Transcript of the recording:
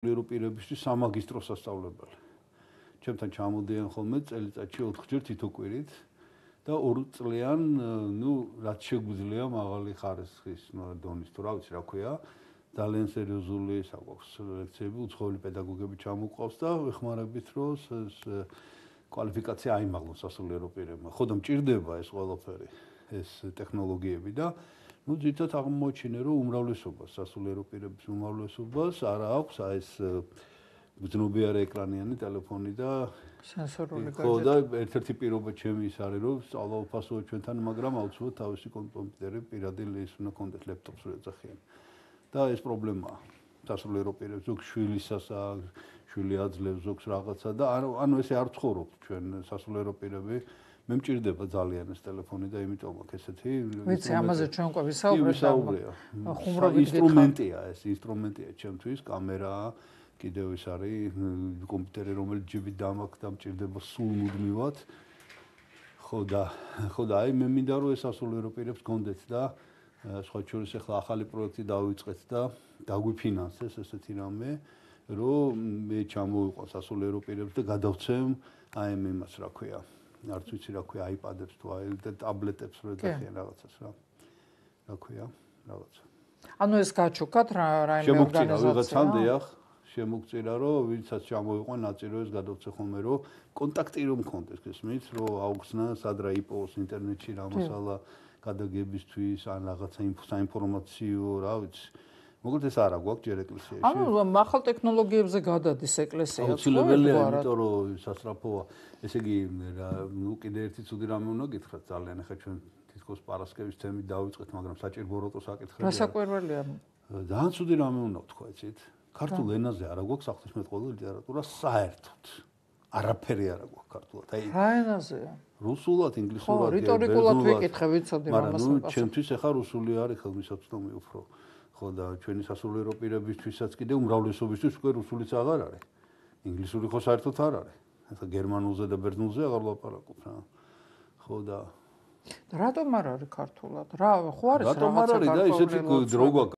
ევროპირებისთვის სამაგისტრო სასწავლებელი. ჩემთან ჩამოდიან ხოლმე წელიწადში 4 ჯერ თითო კვირით და 2 წლიან, რაც შეგვიძლია მაღალი ხარისხის დონის თუ რა ვიცი რა ქვია, ძალიან სერიოზული საკვაქვს ლექციები, უცხოელი პედაგოგები ჩამოყავს და ვეხმარებით რომ ეს კვალიფიკაცია აიმაღლოს სასულიერო პირებმა. ხო და მჭირდება ეს ყველაფერი, ეს ტექნოლოგიები და ძირითადად აღმოჩინე რომ უმრავლესობას სასულიერო პირების უმრავლესობას არ აქვს ეს გრძნობიარე ეკრანიანი ტელეფონი და სენსორული ხო და ერთ-ერთი პირობა ჩემი ის არის რომ სწავლა უფასოა ჩვენთან, მაგრამ აუცილებლად თავისი კომპიუტერი პირადი ის უნდა კონდეთ ლეპტოპს რო ეძახიან. და ეს პრობლემაა. სასულიერო პირებს ზოგ შვილისას შვილი აძლევს ზოგს რაღაცა და ანუ ესე არ ცხოვრობთ ჩვენ სასულიერო პირები. მე მჭირდება ძალიან ეს ტელეფონი და იმიტომ აქვს ესეთი ვიცი ამაზე ჩვენ უკვე ვისაუბრეთ. ხუმრობით ინსტრუმენტია ეს, ინსტრუმენტია ჩემთვის, კამერაა, კიდევ ის არის კომპიუტერი, რომელიც ჯიბით დამაქვს და მჭირდება სულ მუდმივად. ხო და აი მე მინდა რომ ეს სასულიერო პირებს გქონდეთ და სხვა შორის ახლა ახალი პროექტი დავიწყეთ და დაგვიფინანსეს ესეთი რამე, რომ მე ჩამოვიყვან სასულიერო პირებს და გადავცემ აი იმას რა ქვია. არც ვიცი რა ქვია iPad-ებს თუ აი და ტაბლეტებს რო ეძახიან რაღაცას რა. რა ქვია, რაღაცა. ანუ ეს გაჩუქათ რაიმე ორგანიზაცია. შემოგწირა რომ ვინცაც ჩამოვიყვან ნაწილი ეს გადავცე ხოლმე რომ კონტაქტი რომ მქონდეს გესმით რომ აუხსნა სად რა იპოვოს ინტერნეტში რა მასალა გადაგებისთვის ან რაღაცა საინფორმაციო რა ვიცი მოკლედ ეს არა გვაქვს ჯერ ეკლესიაში. ანუ ახალ ტექნოლოგიებზე გადადის ეკლესია. აუცილებელია, იმიტომ რომ სასწრაფოა. ესე იგი, კიდე ერთი ცუდი რამე უნდა გითხრათ ძალიან. ახლა ჩვენ თითქოს პარასკევის თემით დავიწყეთ, მაგრამ საჭირო ბოროტოს აკითხები. რა საკვირველია? ძალიან ცუდი რამე უნდა ვთქვა, იცით? ქართულ ენაზე არა გვაქვს ღვთისმეტყველო ლიტერატურა საერთოდ. არაფერი არა გვაქვს ქართულად. აი რა ენაზეა? რუსულად, ინგლისურად, რიტორიკულად ვიკითხე, ვიცოდი რომ ამას. მაგრამ ჩემთვის ახლა რუსული არის ხელმისაწვდომი უფრო. ხო და ჩვენი სასულიერო პირებისთვისაც კიდე უმრავლესობისთვის უკვე რუსულიც აღარ არის. ინგლისური ხო საერთოდ არ არის. ახლა გერმანულზე და ბერძნულზე აღარ ლაპარაკობ რა. ხო და რატომ არ არის ქართულად? რა ხო არის რაღაცა რატომ არ არის და ისეთი დრო გვაქვს